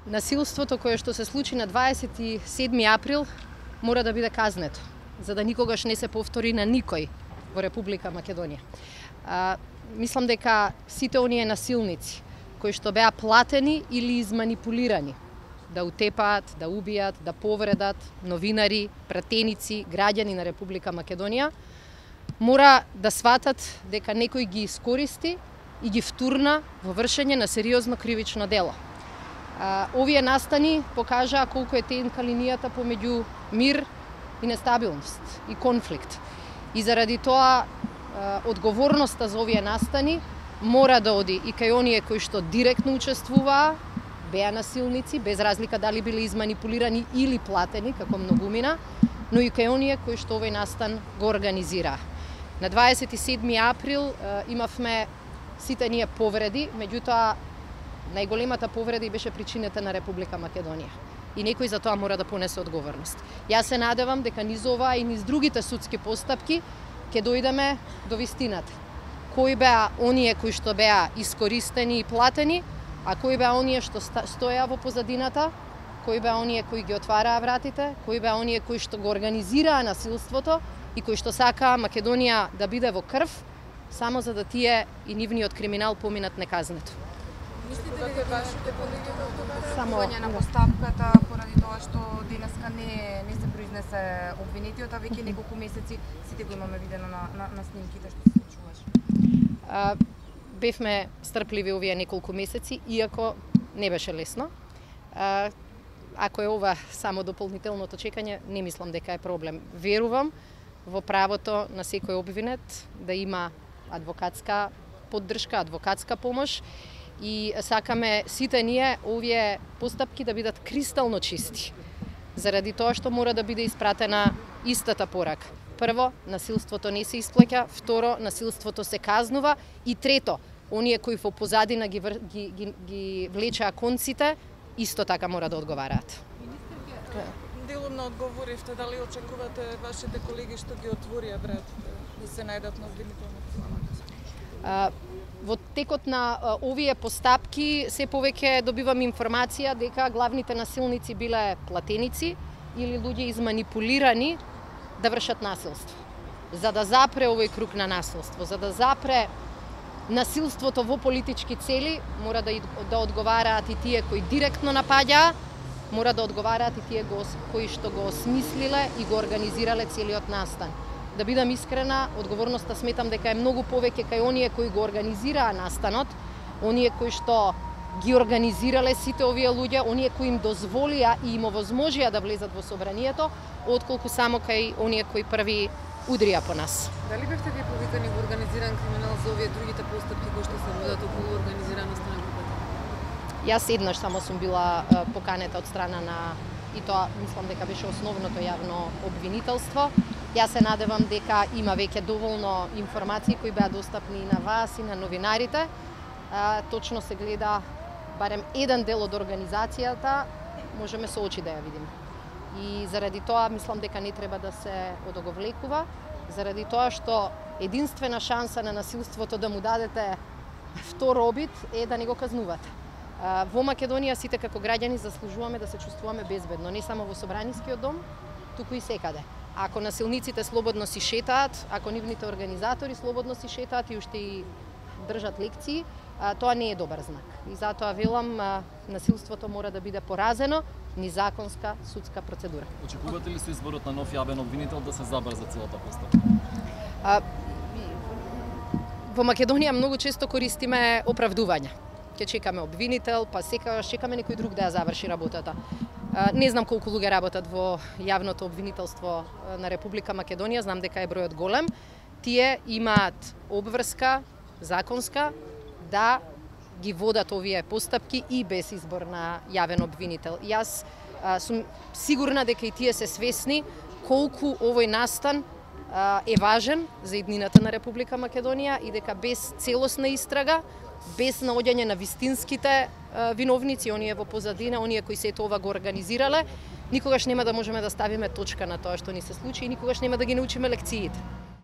Насилството кое што се случи на 27 април мора да биде казнето, за да никогаш не се повтори на никој во Република Македонија. Мислам дека сите оние насилници кои што беа платени или изманипулирани да утепаат, да убијат, да повредат новинари, пратеници, граѓани на Република Македонија, мора да сватат дека некој ги искористи и ги втурна во вршење на сериозно кривично дело. Овие настани покажаа колку е тенка линијата помеѓу мир и нестабилност и конфликт. И заради тоа одговорноста за овие настани мора да оди и кај оние кои што директно учествуваа, беа насилници, без разлика дали биле изманипулирани или платени, како многумина, но и кај оние кои што овој настан го организираа. На 27 април имавме сите ние повреди, меѓутоа најголемата повреда беше причинета на Република Македонија. И некој за тоа мора да понесе одговорност. Јас се надевам дека низ ова и низ другите судски постапки ќе дојдеме до вистината. Кои беа оние кои што беа искористени и платени, а кои беа оние што стоеа во позадината, кои беа оние кои ги отвараа вратите, кои беа оние кои што го организираа насилството и кои што сакаа Македонија да биде во крв, само за да тие и нивниот криминал поминат неказнето. Мислите дека вашите колеги само на постапката поради тоа што денеска не се произнесе обвинетиот, а веќе неколку месеци сите го имаме видено на снимките што се случуваше? Бевме стрпливи овие неколку месеци, иако не беше лесно. Ако е ова само дополнителното чекање, не мислам дека е проблем. Верувам во правото на секој обвинет да има адвокатска поддршка, адвокатска помош и сакаме сите ние овие постапки да бидат кристално чисти. Заради тоа што мора да биде испратена истата порака. Прво, насилството не се исплаќа, второ, насилството се казнува и трето, оние кои во позадина ги влечаа конците, исто така мора да одговараат. Делумно одговоривте, дали очекувате вашите колеги што ги отворија вратите да се најдат на обвинителната? Во текот на овие постапки се повеќе добивам информација дека главните насилници биле платеници или луѓе изманипулирани да вршат насилство. За да запре овој круг на насилство, за да запре насилството во политички цели, мора да одговараат и тие кои директно напаѓаа, мора да одговараат и тие кои што го осмислиле и го организирале целиот настан. Да бидам искрена, одговорноста сметам дека е многу повеќе кај оние кои го организираа настанот, оние кои што ги организирале сите овие луѓе, оние кои им дозволија и им овозможија да влезат во собранието, отколку само кај оние кои први удрија по нас. Дали бевте вие повикани во организиран криминал за овие другите постапки кои што се водат околу организираноста на групата? Јас еднаш само сум била поканета од страна на, и тоа мислам дека беше основното јавно обвинителство. Јас се надевам дека има веќе доволно информации кои беа достапни и на вас и на новинарите. Точно се гледа барем еден дел од организацијата, можеме со очи да ја видиме. И заради тоа мислам дека не треба да се одоговлекува, заради тоа што единствена шанса на насилството да му дадете втор обид е да не го казнувате. Во Македонија сите како граѓани заслужуваме да се чувствуваме безбедно, не само во Собранискиот дом, туку и секаде. Ако насилниците слободно си шетаат, ако нивните организатори слободно си шетаат и уште и држат лекции, тоа не е добар знак. И затоа велам, насилството мора да биде поразено низ законска судска процедура. Очекувате ли се изборот на нов јавен обвинител да се забрза целата постапка? Во Македонија многу често користиме оправдувања. Ќе чекаме обвинител, па секогаш чекаме некој друг да ја заврши работата. Не знам колку луѓе работат во јавното обвинителство на Република Македонија, знам дека е бројот голем. Тие имаат обврска законска да ги водат овие постапки и без избор на јавен обвинител. Јас сум сигурна дека и тие се свесни колку овој настан е важен за иднината на Република Македонија и дека без целосна истрага, без наоѓање на вистинските виновници, оние во позадина, оние кои сето ова го организирале, никогаш нема да можеме да ставиме точка на тоа што ни се случи и никогаш нема да ги научиме лекциите.